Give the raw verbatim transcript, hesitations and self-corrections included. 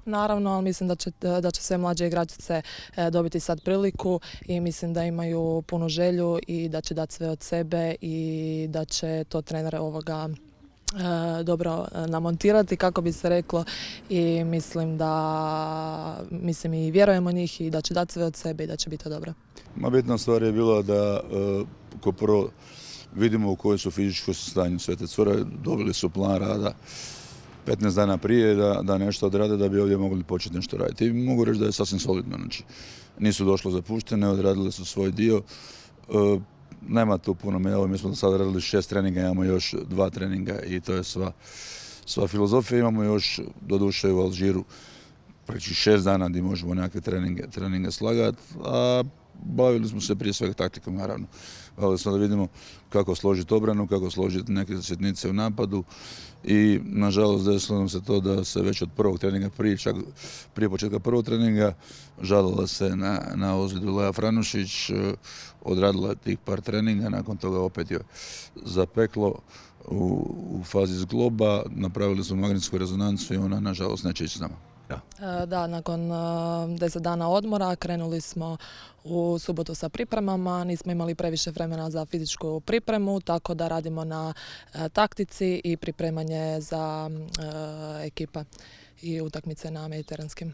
naravno, ali mislim da će, da će sve mlađe igračice dobiti sad priliku i mislim da imaju punu želju i da će dati sve od sebe i da će to trener ovoga dobro namontirati, kako bi se reklo, i mislim da mislim i vjerujemo njih i da će dati sve od sebe i da će biti to dobro. Ma bitna stvar je bila da ko prvo vidimo u kojoj su fizičkoj stanju sve te cure, dobili su plan rada petnaest dana prije da, da nešto odrade da bi ovdje mogli početi nešto raditi. I mogu reći da je sasvim solidno. Znači, nisu došlo zapuštene, odradili su svoj dio. E, nema tu puno medalja, mi smo do sada radili šest treninga, imamo još dva treninga i to je sva, sva filozofija. Imamo još, doduše u Alžiru, preći šest dana gdje možemo nekakve treninge, treninge slagati, a bavili smo se prije svega taktikom, naravno. Bavili smo da vidimo kako složiti obranu, kako složiti neke sitnice u napadu i nažalost desilo nam se to da se već od prvog treninga, prije, čak, prije početka prvog treninga, žalila se na, na ozljedu Lea Franušić, odradila tih par treninga, nakon toga opet je zapeklo u, u fazi zgloba, napravili smo magnetsku rezonancu i ona nažalost neće ići s nama. Da. da, nakon deset dana odmora krenuli smo u subotu sa pripremama, nismo imali previše vremena za fizičku pripremu, tako da radimo na taktici i pripremanje za ekipe i utakmice na mediteranskim.